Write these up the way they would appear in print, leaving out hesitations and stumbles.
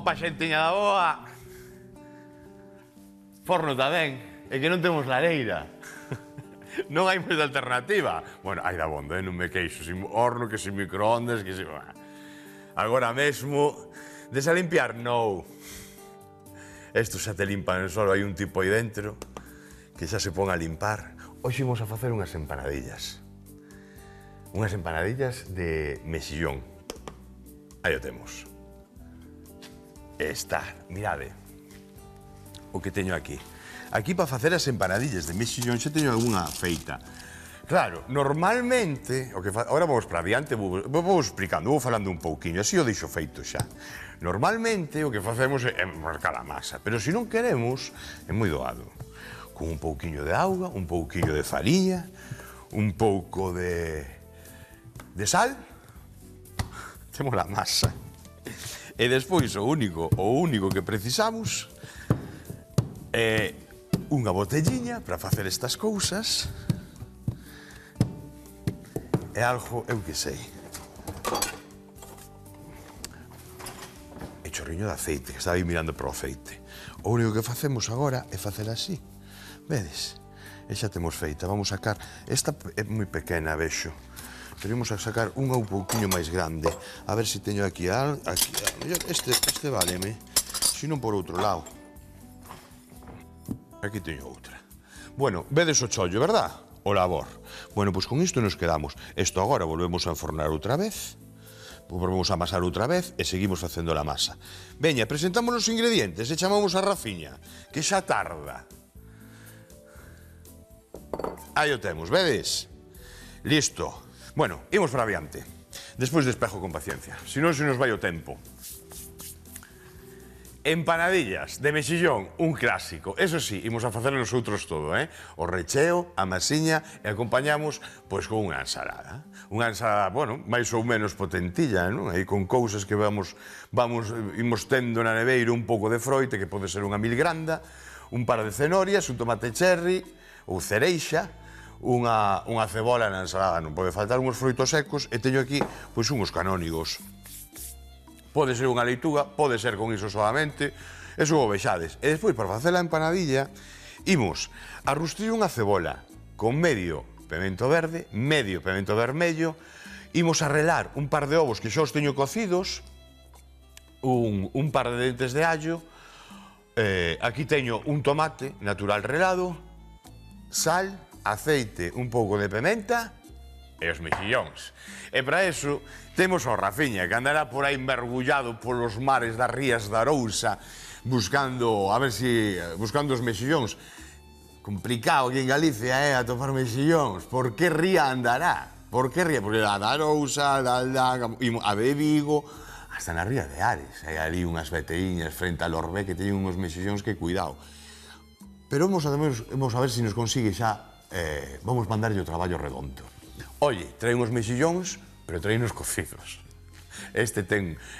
Opa, xentiña da boa. Forno tamén. É que non temos lareira. Non hai moita alternativa. Bueno, hai dabondo, non me queixo. Sin horno, que sin microondas, que sin... Agora mesmo, desalimpiar, non. Isto xa te limpan solo, hai un tipo aí dentro que xa se pon a limpar. Hoxe imos a facer unhas empanadillas. Unhas empanadillas de mexillón. Aí o temos. Está, mirade o que teño aquí. Aquí para facer as empanadillas de mexillón xa teño algunha feita. Claro, normalmente, ahora vamos para adiante, vou explicando, vou falando un pouquiño, así o deixo feito xa. Normalmente o que facemos é marcar a masa, pero se non queremos, é moi doado. Con un pouquiño de auga, un pouquiño de fariña, un pouco de sal, temos a masa. E despois o único que precisamos é unha botelliña para facer estas cousas. É algo, eu que sei. E chorriño de aceite, que estaba aí mirando para o aceite. O único que facemos agora é facer así. Vedes? E xa temos feita. Vamos sacar... Esta é moi pequena, vexo. Pero imos a sacar unha un pouquinho máis grande. A ver se teño aquí este váleme. Se non por outro lado. Aquí teño outra. Bueno, vedes o chollo, verdad? O labor. Bueno, pois con isto nos quedamos. Isto agora volvemos a enfornar outra vez. Volvemos a amasar outra vez e seguimos facendo a masa. Veña, presentamos os ingredientes e chamamos a Rafiña, que xa tarda. Aí o temos, vedes? Listo. Bueno, imos para adiante. Despois despejo con paciencia, senón se nos vai o tempo. Empanadillas de mexillón, un clásico. Eso sí, imos a facer nosotros todo, O recheo, a masiña e acompañamos, pois, con unha ensalada. Unha ensalada, bueno, máis ou menos potentilla, non? Aí con cousas que imos tendo na neveira un pouco de froite, que pode ser unha milgranda, un par de cenorias, un tomate cherry ou cereixa, unha cebola na ensalada, non pode faltar uns froitos secos, e teño aquí, pois, unhos canónigos. Pode ser unha leituga, pode ser con iso solamente, eso o vexades. E despois, para facer a empanadilla, imos a rustrir unha cebola con medio pemento verde, medio pemento vermello, imos a relar un par de ovos que xa os teño cocidos, un par de dentes de allo, aquí teño un tomate natural relado, sal, aceite, un pouco de pementa e os mexillóns. E para eso temos o Rafiña, que andará por aí mergullado polos mares das rías da Arousa buscando os mexillóns. Complicado aquí en Galicia, atopar mexillóns. Por que ría andará? Por que ría? Porque a da Arousa, a de Vigo, hasta na ría de Ares. Hai ali unhas veteíñas frente a Lorbé que teñen uns mexillóns que cuidado. Pero vamos a ver se nos consigue xa, vamos mandarlle o traballo redondo. Oye, traen os mexillóns, pero traen os cocidos. Este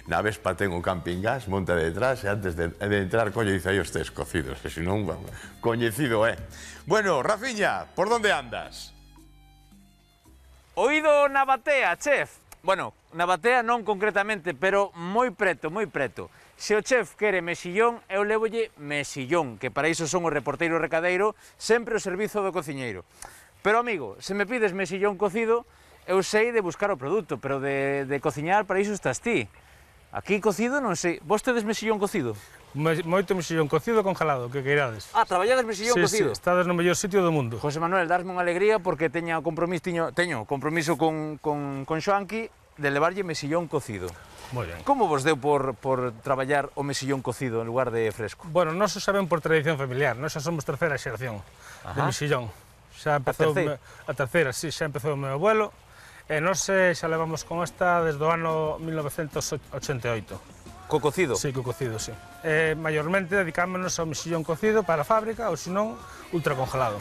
na Vespa ten o camping gas, monta detrás, e antes de entrar, coño, dice aí os tes cocidos, e se non, coñecido é. Bueno, Rafiña, por onde andas? Oído na batea, chef. Bueno, na batea non concretamente, pero moi preto, moi preto. Se o chef quere mexillón, eu levolle mexillón, que para iso son o reporteiro recadeiro, sempre o servizo do cociñeiro. Pero, amigo, se me pides mexillón cocido, eu sei de buscar o produto, pero de cociñar para iso estás ti. Aquí cocido non sei. Vos tedes mexillón cocido? Moito mexillón cocido congelado, que queirades. Ah, traballades mexillón cocido? Sí, estades no mellor sitio do mundo. José Manuel, dasme unha alegría porque teño compromiso con Xoanqui de levarlle mexillón cocido. Moi ben. Como vos deu por traballar o mexillón cocido en lugar de fresco? Bueno, nós o saben por tradición familiar, nós xa somos terceira xeración de mexillón. Xa empezou a terceira, sí, xa empezou o meu abuelo, e nós xa levamos con esta desde o ano 1988. Co cocido? Sí, co cocido, sí. Maiormente dedicámonos ao mexillón cocido para a fábrica, ou senón, ultracongelado.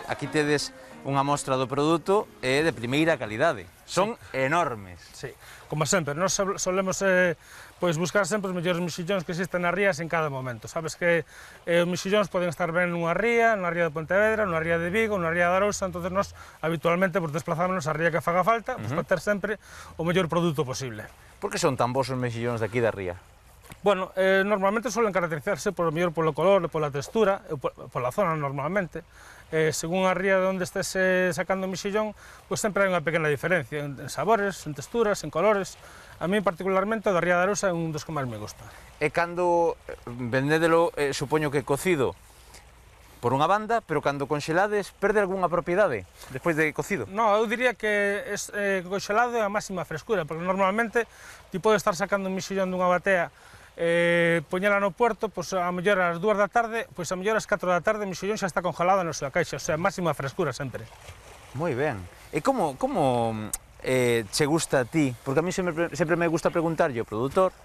Aquí aquí tedes unha mostra do produto de primeira calidade. Son enormes. Sí, como sempre, nós solemos pois buscar sempre os mellores mexillóns que existen nas rías en cada momento. Sabes que os mexillóns poden estar ben nunha ría de Pontevedra, nunha ría de Vigo, nunha ría de Arousa, entonces nós habitualmente pues, desplazámonos á ría que faga falta pues, para ter sempre o mellor produto posible. Por que son tan bons os mexillóns de aquí da ría? Bueno, normalmente suelen caracterizarse por mellor polo color, pola textura, pola zona normalmente. Según a ría de onde estés sacando o mexillón, pues sempre hai unha pequena diferencia en sabores, en texturas, en colores. A mí particularmente o da ría de Arousa é un dos que máis me gusta. E cando vendédelo, supoño que cocido por unha banda, pero cando conxelades, perde algunha propiedade despois de cocido? No, eu diría que conxelado é a máxima frescura, porque normalmente ti podes estar sacando un mexillón dunha batea poñela no puerto, pois a mellor ás 2 da tarde, pois a mellor ás 4 da tarde o mexillón xa está congelado na súa caixa, o sea, máxima frescura sempre. Moi ben. E como che gusta a ti? Porque a mí sempre me gusta preguntarlle ao produtor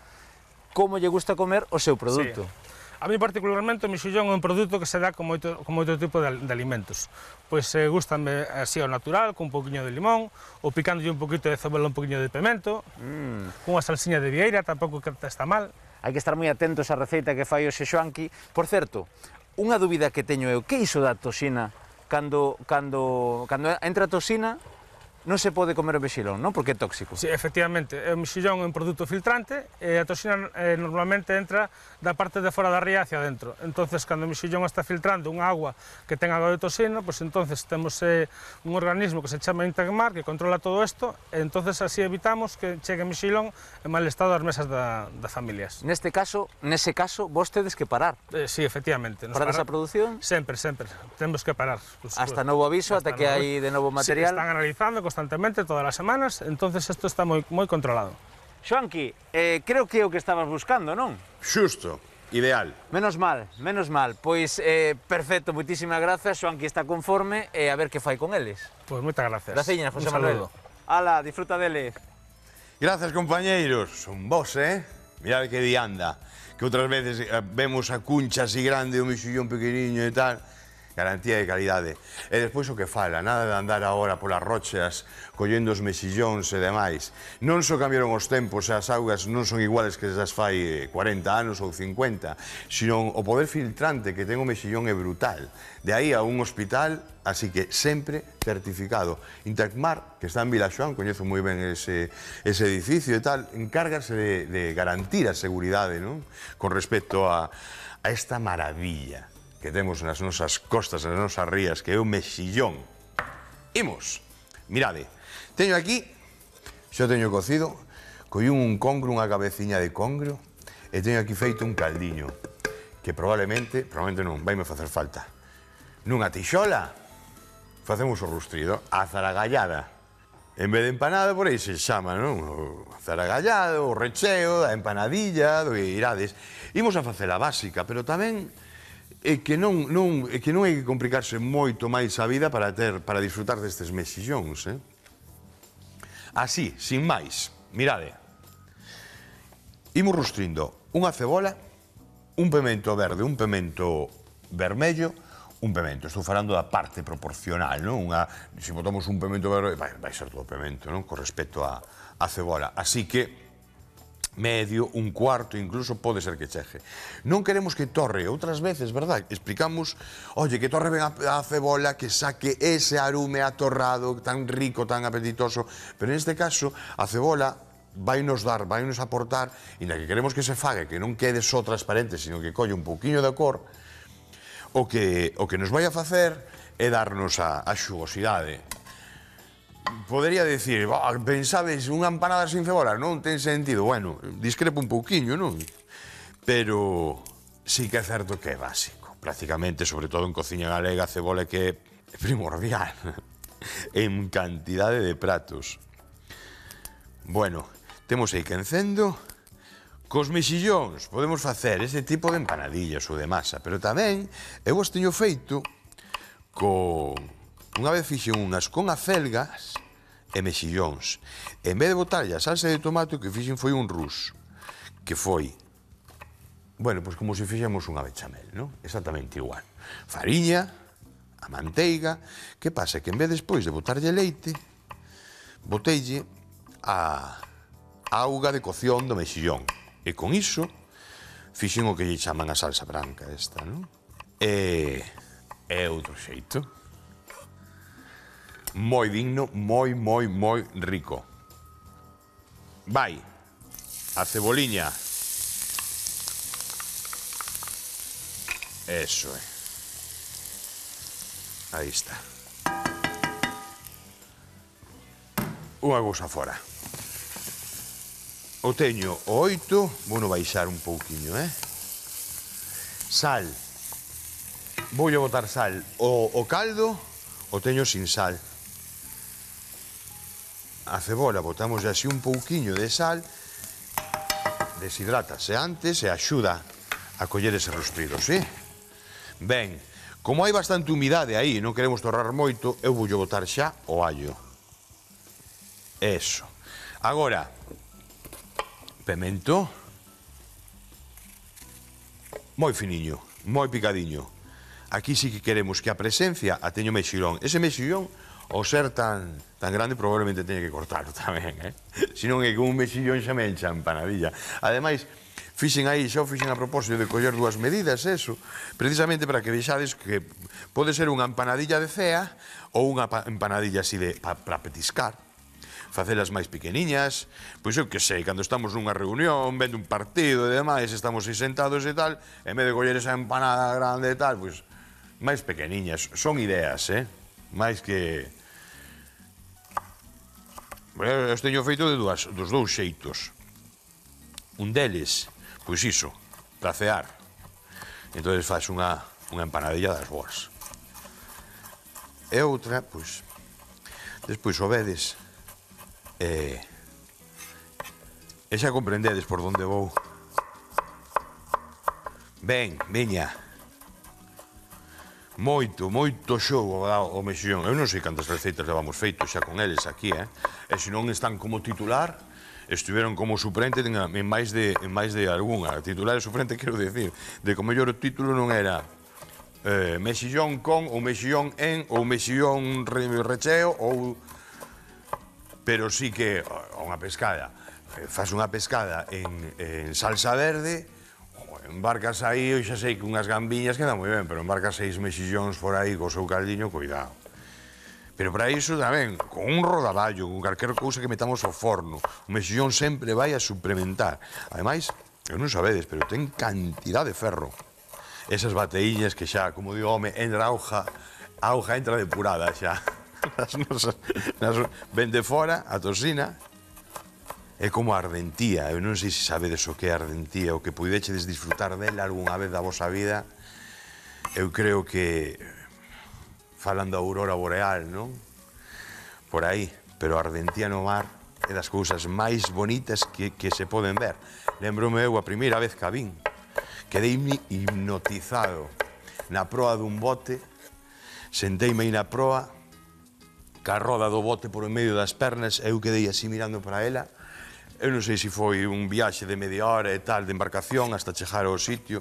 como lle gusta comer o seu produto. Sí. A mí particularmente o mexillón é un produto que se dá con moito tipo de alimentos. Pois gustame así ao natural, con un poquinho de limón, ou picándolle un poquito de cebola, un poquinho de pimento, cunha salsiña de vieira, tampouco que está mal. Hai que estar moi atentos á receita que fai o Xoanqui. Por certo, unha dúbida que teño eu, que iso da toxina? Cando entra a toxina, non se pode comer o mexillón, non? Porque é tóxico. Sí, efectivamente, o mexillón é un produto filtrante e a toxina normalmente entra da parte de fora da ría hacia dentro. Entonces, cando o mexillón está filtrando unha agua que ten algo de toxina, pues entonces temos un organismo que se chama Integmar que controla todo isto e entonces así evitamos que chegue mexillón en mal estado ás mesas das familias. Nese caso, vos tedes que parar. Sí, efectivamente. Parar esa produción? Sempre, temos que parar. Hasta novo aviso, ata que hai de novo material? Sí, están analizando constantemente todas as semanas, entonces isto está moi controlado. Xoanqui, creo que é o que estabas buscando, non? Xusto, ideal. Menos mal. Pois, perfecto, moitísimas grazas, Xoanqui está conforme, e a ver que fai con eles. Pois moitas gracias. Graciñas, José Manuel. Ala, disfruta deles. Grazas, compañeiros. Son vos, Mirad que dianda. Que outras veces vemos a cuncha así grande, o mexillón pequeniño e tal. Garantía de calidade. E despois o que fala, nada de andar agora polas rochas, collendo os mexillóns e demais. Non só cambiaron os tempos e as augas non son iguales que as fai 40 anos ou 50, sino o poder filtrante que ten o mexillón é brutal. De aí a un hospital, así que sempre certificado. Intermar, que está en Vilaxoán, coñezo moi ben ese edificio e tal, encárgase de garantir a seguridade, non? Con respecto a esta maravilla que temos nas nosas costas, nas nosas rías, que é o mexillón. Imos, mirade, teño aquí, xa teño cocido, collín un congro, unha cabeciña de congro, e teño aquí feito un caldiño, que probablemente non, vaime facer falta. Nunha tixola, facemos o rustrido, a zaragallada. En vez de empanada, por aí se chama, non? O zaragallado, o recheo, a empanadilla, do que irades. Imos a facer a básica, pero tamén é que non hai que complicarse moito máis a vida para disfrutar destes mexillóns, Así, sin máis, mirade. Imos rustrindo unha cebola, un pemento verde, un pemento vermello, un pemento. Estou falando da parte proporcional, non? Se botamos un pemento verde, vai ser todo pemento, non? Con respecto á cebola. Así que medio, un cuarto, incluso pode ser que cheje. Non queremos que torre, outras veces, verdad? Explicamos, oye, que torre ben a cebola, que saque ese arume atorrado, tan rico, tan apetitoso, pero neste caso, a cebola vainos aportar, e na que queremos que se fague, que non quede só transparente, sino que colle un pouquiño de cor, o que nos vai a facer é darnos a xugosidade. Podería dicir, pensades unha empanada sin cebola, non ten sentido. Bueno, discrepo un pouquiño, non? Pero sí que é certo que é básico. Prácticamente, sobre todo en cociña galega, a cebola que é primordial en cantidade de pratos. Bueno, temos aí que encendo. Cos mexillóns podemos facer ese tipo de empanadillas ou de masa, pero tamén eu os teño feito con... Unha vez fixen unhas con acelgas e mexillóns. En vez de botarlle a salsa de tomate, o que fixen foi un rus, que foi, bueno, pois como se fixemos unha bechamel, non? Exactamente igual. Fariña, a manteiga. Que pasa? Que en vez despois de botarlle leite, boteille a auga de cocción do mexillón. E con iso, fixen o que lle chaman a salsa branca esta, non? E outro xeito. Moi digno, moi rico. Vai, a ceboliña. Eso é. Aí está. Unha cousa fora. O teño o 8, vou baixar un pouquiño, Sal. Voulle botar sal. O caldo o teño sin sal. A cebola botamos así un pouquiño de sal, deshidrátase antes e axuda a coller ese rustrido, sí? Ben, como hai bastante humidade aí, non queremos torrar moito, eu voulle botar xa o allo. Eso. Agora, pemento, moi finiño, moi picadiño. Aquí sí que queremos que a presencia a teño mexillón. Ese mexillón, ao ser tan grande, probablemente teña que cortarlo tamén, Se non é que un mexillón xa me encha empanadilla. Ademais, fixen a propósito de coller dúas medidas, eso, precisamente para que vexades que pode ser unha empanadilla de cea ou unha empanadilla así para petiscar. Facelas máis pequeniñas, pois eu que sei, cando estamos nunha reunión, vendo un partido e demais, estamos aí sentados e tal, en vez de coller esa empanada grande e tal, pois máis pequeniñas. Son ideas, máis que... Eu teño feito dos dous xeitos. Un deles, pois iso, para cear. Entón faz unha empanadilla das boas. E outra, pois, despois o vedes e xa comprendedes por onde vou. Ben, veña. Moito xogo o mexillón. Eu non sei cantas receitas levamos feito xa con eles aquí, E se non están como titular, estiveron como suplente en máis de algunha. Titular e suplente, quero decir, de que o mellor o título non era mexillón con, ou mexillón en, ou mexillón recheo, ou... Pero sí que unha pescada, faz unha pescada en salsa verde, embarcas aí, eu xa sei que unhas gambiñas quedan moi ben, pero embarcas 6 mexillóns por aí co seu caldiño, cuidado. Pero para iso tamén, con un rodaballo, con calquer cousa que metamos ao forno, o mexillón sempre vai a suplementar. Ademais, eu non sabedes, pero ten cantidad de ferro. Esas bateíñas que xa, como digo, home, entra a auga entra depurada xa. Ven de fora, a toxina, é como a ardentía. Eu non sei se sabedes o que é a ardentía, o que puidechedes disfrutar dela algunha vez da vosa vida. Eu creo que falan da aurora boreal, non? Por aí, pero a ardentía no mar é das cousas máis bonitas que se poden ver. Lembro-me eu a primeira vez que a vin, quedei hipnotizado na proa dun bote, senteime aí na proa, ca roda do bote por en medio das pernas, eu quedei así mirando para ela. Eu non sei se foi un viaxe de media hora e tal de embarcación hasta chegar ao sitio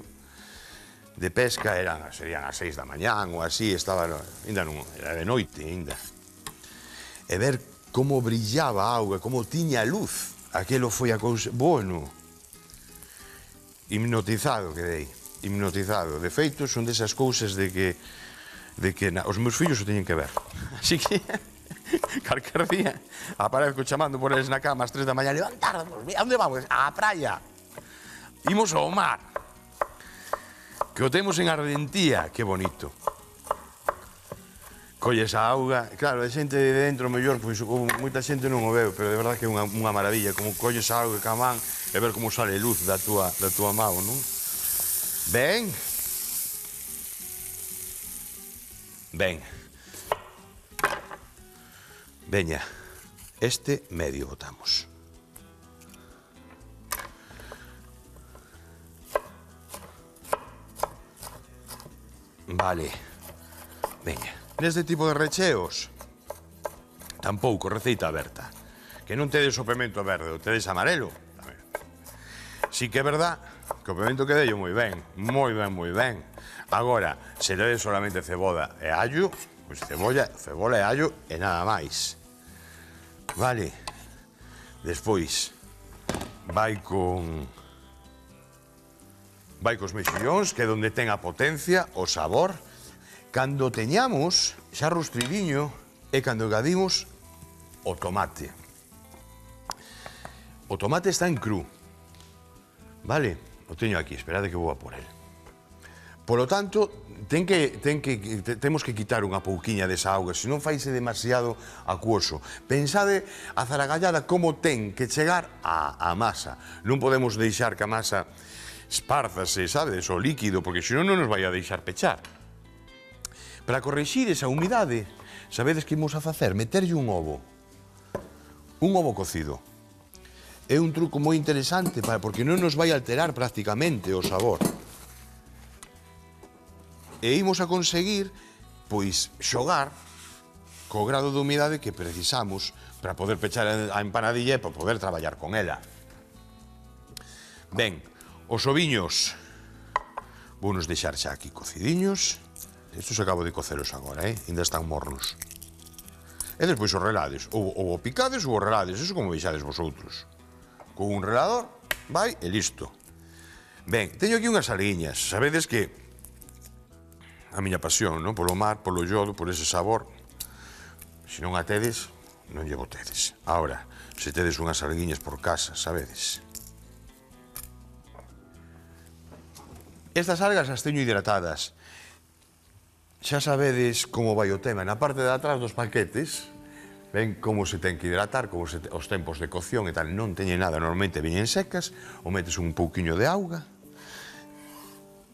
de pesca, serían as 6 da mañán ou así, estaba, ainda non, era de noite ainda. E ver como brillaba a auga, como tiña luz, aquelo foi a cousa, bueno, hipnotizado quedei, hipnotizado. De feito, son desas cousas de que os meus fillos o teñen que ver. Así que, calquer día, aparezco chamando por eles na cama ás 3 da mañá, levantarnos, a onde vamos? Á praia. Imos ao mar. Que o temos en Ardentía, que bonito. Colles a auga, claro, a xente de dentro mellor, pois moita xente non o veo, pero de verdade que é unha maravilla, como colles a auga ca man e ver como sale luz da túa mão, non? Ben. Ben. Veña, este medio botamos. Vale, veña. Neste tipo de recheos, tampouco receita aberta. Que non tedes o pemento verde, o tedes amarelo. Sí que é verdad que o pimento quedello moi ben, moi ben, moi ben. Agora, se ledes solamente cebola e allo, pois cebola e allo e nada máis. Vale. Despois, vai cos mexillóns, que é onde ten a potencia, o sabor. Cando teñamos xa rostridiño e cando engadimos o tomate. O tomate está en cru. Vale? O teño aquí, esperade que vou a por el. Polo tanto, temos que quitar unha pouquiña desa auga, senón faise demasiado acuoso. Pensade a zaragallada como ten que chegar á masa. Non podemos deixar que a masa espárzase, sabes, o líquido, porque senón non nos vai a deixar pechar. Para corrixir esa humidade, sabedes que imos a facer? Meterlle un ovo cocido. É un truco moi interesante porque non nos vai alterar prácticamente o sabor. E imos a conseguir, pois, xogar co grado de humidade que precisamos para poder pechar a empanadilla e para poder traballar con ela. Ben, os oviños vounos deixar xa aquí cocidiños. Estos acabo de coceros agora, ainda están mornos. E despois os relades, ou o picades ou os relades, eso como veixades vosotros. Con un relador, vai e listo. Ben, teño aquí unhas alguiñas, sabedes que a miña pasión, non? Polo mar, polo yodo, por ese sabor. Se non a tedes, non lle botedes. Ahora, se tedes unhas alguiñas por casa, sabedes. Estas algas as teño hidratadas. Xa sabedes como vai o tema. Na parte de atrás dos paquetes, ven como se ten que hidratar, como os tempos de cocción e tal. Non teñen nada, normalmente veñen secas, ou metes un pouquiño de auga.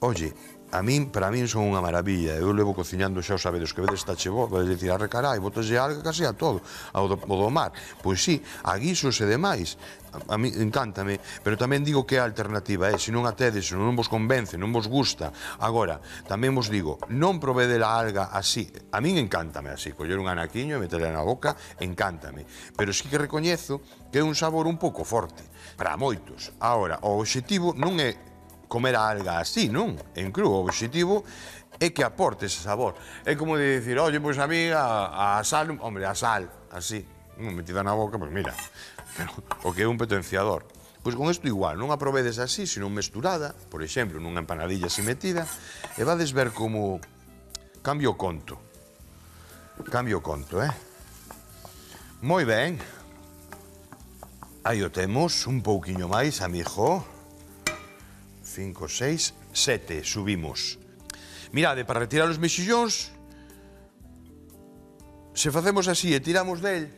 Oye, para min son unha maravilla. Eu levo cociñando xa o sabedes que vedes tache vos, vai dicir, arre carai, botaslle alga casi a todo, ao do mar. Pois sí, a guisos e demais. A mí encántame, pero tamén digo que é a alternativa, se non a tedes, se non vos convence, non vos gusta. Agora, tamén vos digo, non probede a alga así. A min encántame así, coller un anaquiño e meterla na boca, encántame. Pero sí que recoñezo que é un sabor un pouco forte, para moitos. Agora, o obxectivo non é comer a alga así, non? En cru, o obxectivo é que aporte ese sabor. É como de dicir, oye, pois a mí a sal, hombre, a sal, así, metida na boca, pois mira, pero o que é un potenciador. Pois con isto igual, non a probedes así, senón mesturada, por exemplo, nunha empanadilla así metida, e vades ver como cambio o conto. Cambio o conto, Moi ben. Aí o temos, un pouquiño máis, amigo. 5, 6, 7, subimos. Mirade, para retirar os mexillóns, se facemos así e tiramos del,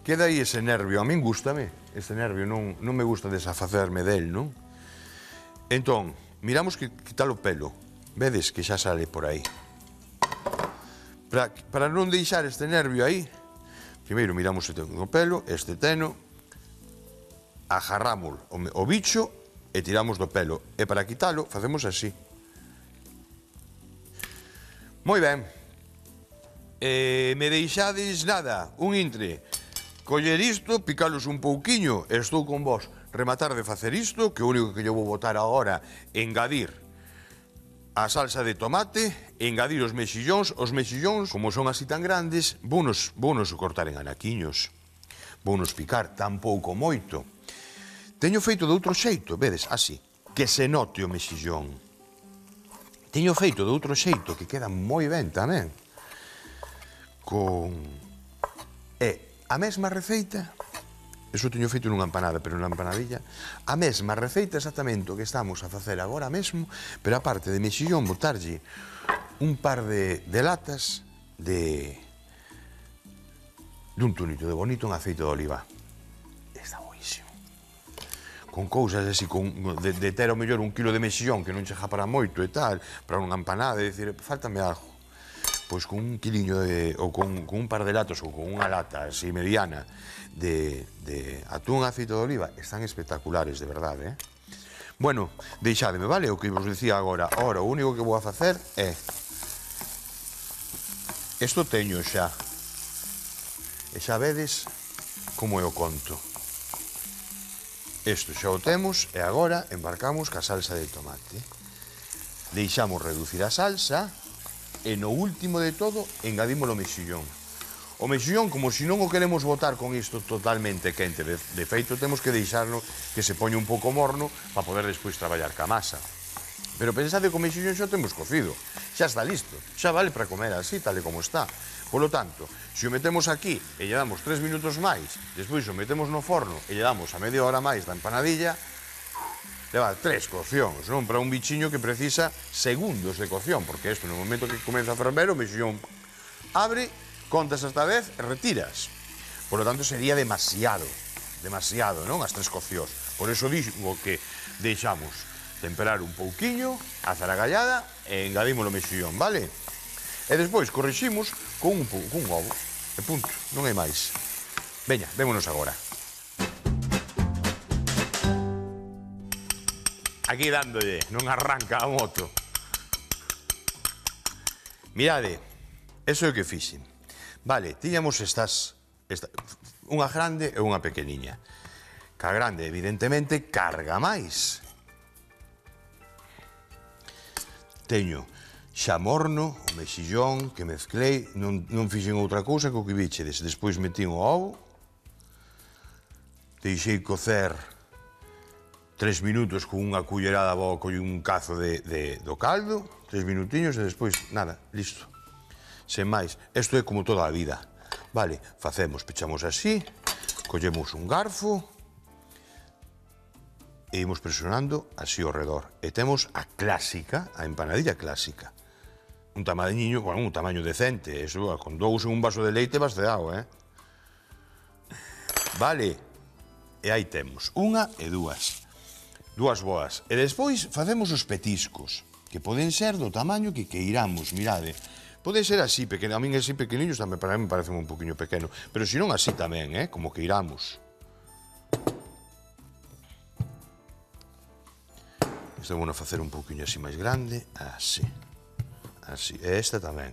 queda aí ese nervio. A min gústame, ese nervio, non me gusta desfacerme del, non? Entón, miramos que quitar o pelo. Vedes que xa sale por aí. Para non deixar este nervio aí, primeiro miramos se ten o pelo, este teno, agarramos o bicho e tiramos do pelo. E para quitalo, facemos así. Moi ben. Me deixades nada, un intre. Coller isto, picalos un pouquiño, e estou con vos. Rematar de facer isto, que o único que eu vou botar agora é engadir a salsa de tomate, engadir os mexillóns, como son así tan grandes, vounos cortar en anaquiños, vounos picar tampouco moito. Teño feito de outro xeito, vedes, así, que se note o mexillón. Teño feito de outro xeito, que queda moi ben tamén. A mesma receita, eso teño feito nunha empanada, pero nunha empanadilla, a mesma receita exactamente o que estamos a facer agora mesmo, pero a parte de mexillón, botarlle un par de latas dun tunito de bonito en aceite de oliva. Está boísimo. Con cousas así, de ter ao mellor un kilo de mexillón que non chega para moito e tal, para unha empanada, e dicir, fáltame algo. Pois con un quiliño ou con un par de latas ou con unha lata así mediana de atún e aceite de oliva, están espectaculares, de verdade, Bueno, deixádeme, vale, o que vos dicía agora. Ora, o único que vou a facer é... Isto teño xa. E xa vedes como é o conto. Isto xa o temos e agora embarcamos ca salsa de tomate. Deixamos reducir a salsa e no último de todo engadimos o mexillón. O mexillón, como se non o queremos botar con isto totalmente quente, de feito temos que deixarlo que se poña un pouco morno para poder despois traballar ca masa. Pero pensade que o mexillón xa o temos cocido, xa está listo, xa vale para comer así, tal e como está. Polo tanto, se o metemos aquí e lle damos 3 minutos máis, despois o metemos no forno e lle damos a media hora máis da empanadilla, leva 3 coccións, non? Para un bichiño que precisa segundos de cocción, porque isto no momento que comeza a ferver o mexillón abre, contas hasta 10 e retiras. Por lo tanto, sería demasiado, non? As 3 coccións. Por eso digo que deixamos temperar un pouquiño, a zaragallada e engadimos o mexillón, vale? E despois corriximos con un ovo. E punto, non hai máis. Veña, vémonos agora. Aquí dándolle, non arranca a moto. Mirade, eso é o que fixen. Vale, tiñamos unha grande e unha pequeniña. Ca grande, evidentemente, carga máis. Teño xa morno, o mexillón que mezclei, non fixen outra cousa que o que vichedes. Despois metín o ovo, deixei cocer 3 minutos con unha cullerada boca e un cazo do caldo, 3 minutiños e despois, nada, listo. Sen máis, isto é como toda a vida. Vale, facemos, pechamos así, collemos un garfo e imos presionando así ao redor. E temos a clásica, a empanadilla clásica. Un tamañiño, bueno, un tamaño decente, eso, con 2 en un vaso de leite vaceado, Vale, e aí temos, unha e dúas boas. E despois facemos os petiscos, que poden ser do tamaño que queiramos, mirade. Pode ser así, a min así pequeniños tamén para mí me parece un poquinho pequeno, pero se non así tamén, como queiramos. Isto vamos a facer un poquinho así máis grande, así. Así, e esta tamén.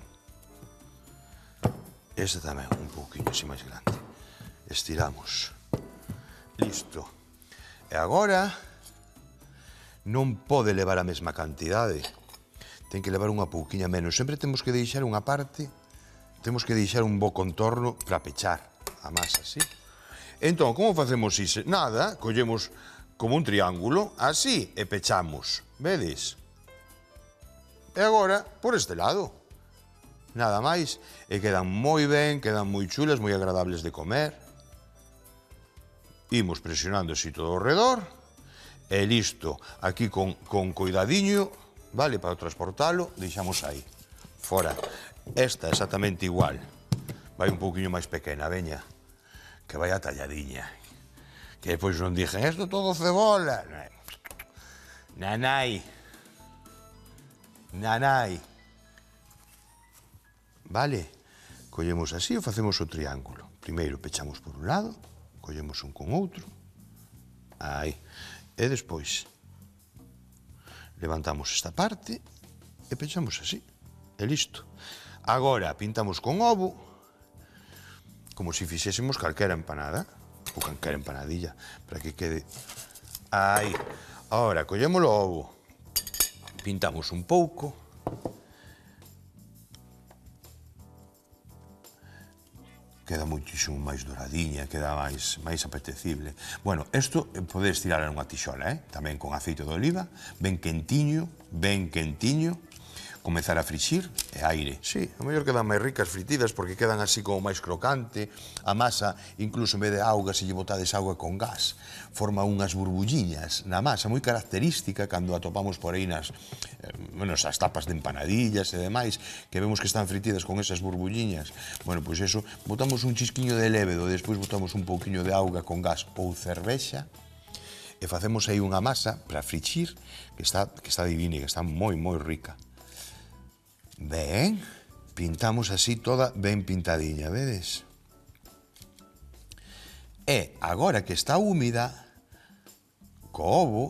Esta tamén, un poquinho así máis grande. Estiramos. Listo. E agora non pode levar a mesma cantidade. Ten que levar unha pouquiña menos. Sempre temos que deixar unha parte, temos que deixar un bo contorno para pechar a masa, así. Entón, como facemos iso? Nada, collemos como un triángulo, así, e pechamos. Vedes? E agora, por este lado. Nada máis. E quedan moi ben, quedan moi chulas, moi agradables de comer. Imos presionando así todo ao redor. E listo. Aquí con coidadiño, vale, para transportalo, deixamos aí. Fora. Esta exactamente igual. Vai un pouquiño máis pequena, veña. Que vai a talladiña. Que depois non dixen, isto todo cebola. Nanai. Vale, collemos así e facemos o triángulo. Primeiro pechamos por un lado, collemos un con outro, aí, e despois levantamos esta parte e pechamos así, e listo. Agora pintamos con ovo, como se fixésemos calquera empanada, ou calquera empanadilla, para que quede aí. Agora, collemos o ovo, pintamos un pouco, queda moitísimo máis doradiña, queda máis apetecible. Bueno, isto podes tirar en unha tixola, tamén con aceite de oliva, ben quentiño, comezar a frixir e aire. Sí, a mellor quedan máis ricas fritidas porque quedan así como máis crocante. A masa, incluso en vez de auga, se lle botades auga con gas, forma unhas burbulliñas na masa, moi característica cando atopamos por aí nas tapas de empanadillas e demais, que vemos que están fritidas con esas burbulliñas. Bueno, pois eso, botamos un chisquiño de lévedo, despois botamos un pouquiño de auga con gas ou cervexa, e facemos aí unha masa para frixir que está divina e que está moi, moi rica. Ben, pintamos así toda ben pintadiña, vedes? E agora que está húmida, co ovo,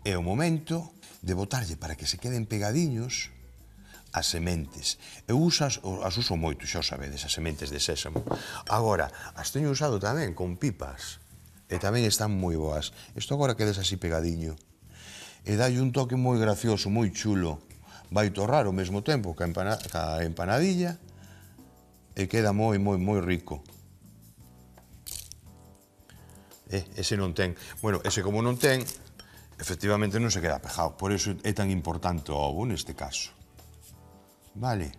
é o momento de botarlle para que se queden pegadiños as sementes. Eu as uso moito, xa o sabedes, as sementes de sésamo. Agora, as teño usado tamén con pipas. E tamén están moi boas. Isto agora quedes así pegadiño. E dalle un toque moi gracioso, moi chulo. Vai torrar ao mesmo tempo ca empanadilla e queda moi rico. Ese non ten. Bueno, ese como non ten, efectivamente non se queda pejado. Por iso é tan importante o ovo neste caso. Vale.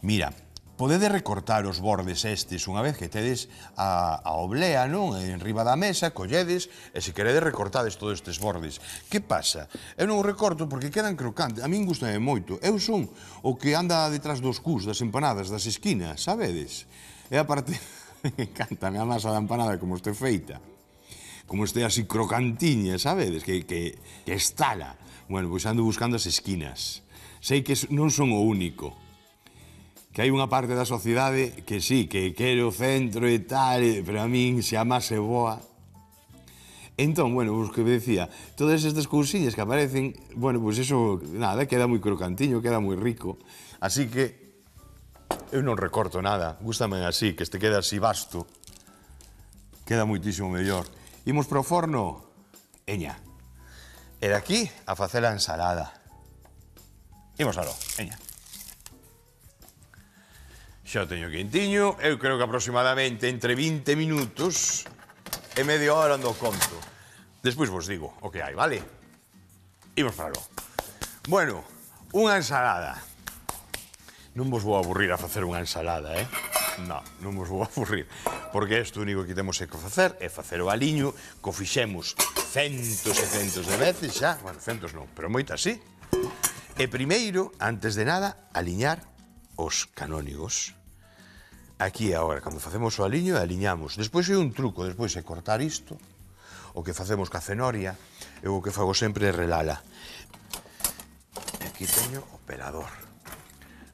Mira, podedes recortar os bordes estes unha vez que tedes a oblea, non? En riba da mesa, colledes, e se queredes recortades todos estes bordes. Que pasa? Eu non o recorto porque quedan crocantes. A min gustame moito. Eu son o que anda detrás dos cus, das empanadas, das esquinas, sabedes? E aparte, encántame a masa da empanada como este feita. Como este así crocantiña, sabedes? Que estala. Bueno, pois ando buscando as esquinas. Sei que non son o único. Que hai unha parte da sociedade que sí, que quere o centro e tal, pero a min, se a masa é boa. Entón, bueno, os que me decía, todas estas cousiñas que aparecen, bueno, pois eso, nada, queda moi crocantiño, queda moi rico. Así que eu non recorto nada, gústame así, que este queda así vasto. Queda moitísimo mellor. Imos pro forno, eña. E daqui a facer a ensalada. Imos aló, eña. Xa o teño quentiño, eu creo que aproximadamente entre 20 minutos e media hora ando conto. Despois vos digo o que hai, vale? Imos para aló. Bueno, unha ensalada. Non vos vou aburrir a facer unha ensalada, non vos vou aburrir, porque isto único que temos que facer é facer o aliño, que o fixemos centos e centos de veces xa, bueno, centos non, pero moitas sí. E primeiro, antes de nada, aliñar os canónigos. Aquí agora, cando facemos o aliño, aliñamos. Despois hai un truco, despois é cortar isto, o que facemos ca cenoria, eu o que fago sempre é relala. Aquí teño o pelador.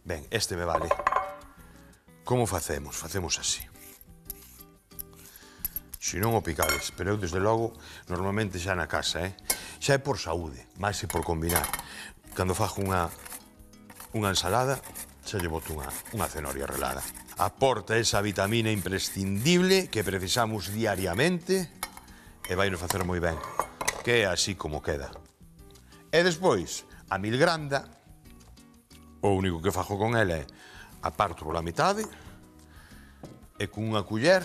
Ben, este me vale. Como facemos? Facemos así. Se non o picades, pero eu, desde logo, normalmente xa na casa, xa é por saúde, máis é por combinar. Cando fajo unha ensalada, xa lle boto unha cenoria relada. Aporta esa vitamina imprescindible que precisamos diariamente e vai nos facer moi ben, que é así como queda. E despois, a milgranda, o único que fajo con ela é aparto pola metade e con unha culler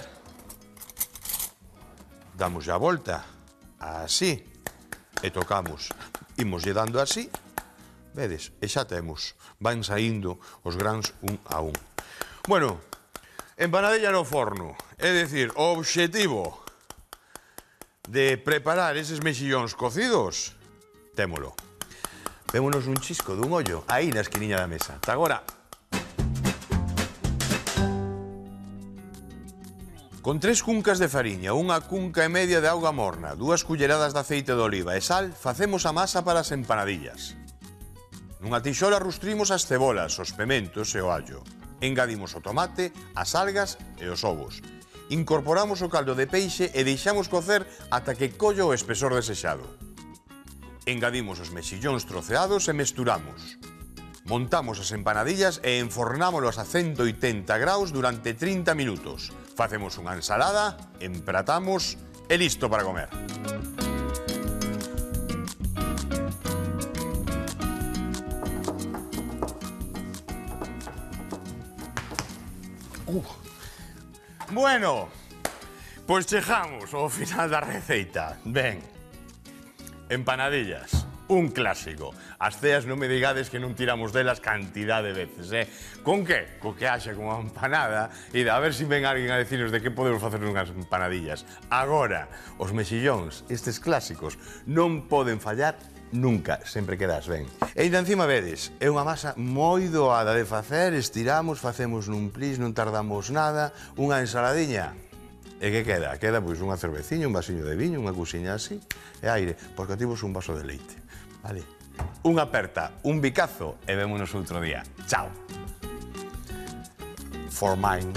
damos a volta así e tocamos, imoslle dando así, vedes, e xa temos, van saindo os grans un a un. Bueno, empanadilla no forno, é dicir, o obxectivo de preparar eses mexillóns cocidos, témolo. Vémonos un chisco dun ollo aí na esquiniña da mesa. Ata agora. Con 3 cuncas de fariña, 1 cunca e media de auga morna, 2 culleradas de aceite de oliva e sal, facemos a masa para as empanadillas. Nunha tixola rustrimos as cebolas, os pementos e o allo. Engadimos o tomate, as algas e os ovos. Incorporamos o caldo de peixe e deixamos cocer ata que colla o espesor desexado. Engadimos os mexillóns troceados e mesturamos. Montamos as empanadillas e enfornámolos a 180 graus durante 30 minutos. Facemos unha ensalada, empratamos e listo para comer. Bueno, pois chegamos ao final da receita. Ben, empanadillas, un clásico. As ceas non me digades que non tiramos delas cantidad de veces, Con que? Co que haxa con a empanada e a ver se ven alguén a decirnos de que podemos facer unhas empanadillas. Agora, os mexillóns, estes clásicos, non poden fallar nunca, sempre quedas ben. E ainda encima vedes, é unha masa moi doada de facer, estiramos, facemos nun plis, non tardamos nada, unha ensaladiña. E que queda? Queda pois unha cerveciña, un vasiño de viño, unha cousiña así, e aire, porque ativos un vaso de leite. Vale? Unha aperta, un bicazo e vémonos outro día. Chao. For mine.